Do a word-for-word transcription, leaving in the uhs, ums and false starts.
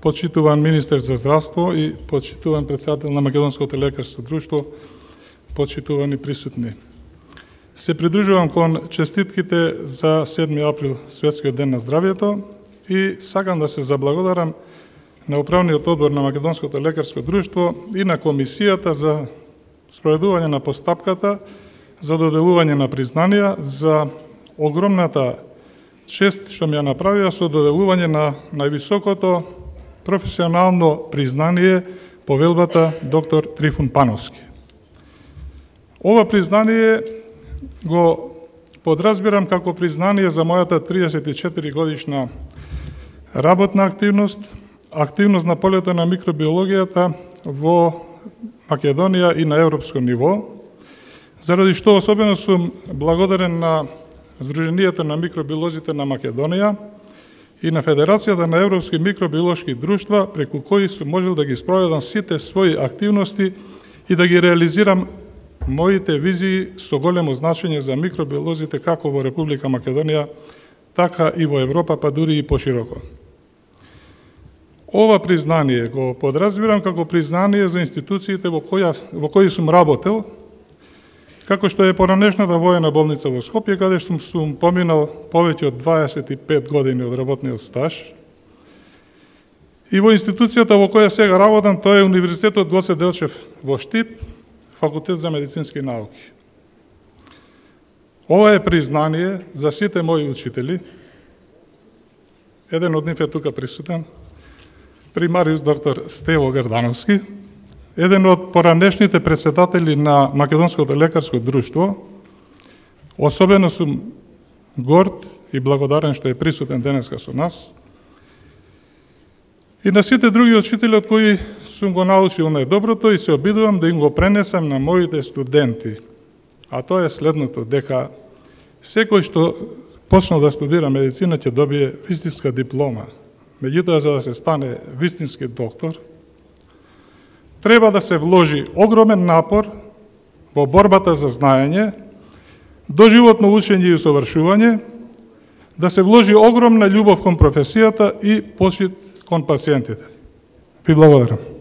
почитуван министер за здравство и почитуван председател на Македонското лекарско друштво, почитувани присутни. Се придружувам кон честитките за седми април, Светскиот ден на здравјето, и сакам да се заблагодарам на Управниот одбор на Македонското лекарско друштво и на Комисијата за спроведување на постапката за доделување на признанија за огромната чест што ми ја направија со доделување на највисокото професионално признание повелбата доктор Трифун Пановски. Ова признание го подразбирам како признание за мојата триесет и четири годишна работна активност, активност на полето на микробиологијата во Македонија и на европско ниво, заради што особено сум благодарен на Сдруженијето на микробиолозите на Македонија и на Федерацијата на европски микробиолошки друштва, преку кои сум можел да ги спроведам сите своји активности и да ги реализирам моите визии со големо значење за микробиолозите како во Република Македонија, така и во Европа, па дури и пошироко. Ова признание го подразбирам како признание за институциите во, која, во кои сум работел, како што е поранешната воена болница во Скопје, каде сум, сум поминал повеќе од дваесет и пет години од работниот стаж. И во институцијата во која сега работам, тоа е Универзитетот Гоце Делчев во Штип, Факултет за медицински науки. Ова е признание за сите мои учители. Еден од нив е тука присутен, примариус доктор Стево Грдановски, еден од поранешните председатели на Македонското лекарско друштво. Особено сум горд и благодарен што е присутен денеска со нас. И на сите други учители од кои сум го научил најдоброто и се обидувам да им го пренесам на моите студенти. А тоа е следното, дека секој што почнал да студира медицина ќе добие вистинска диплома. Меѓутоа, за да се стане вистински доктор, треба да се вложи огромен напор во борбата за знаење, доживотно учење и усовршување, да се вложи огромна љубов кон професијата и почит кон пациентите. Ви благодарам.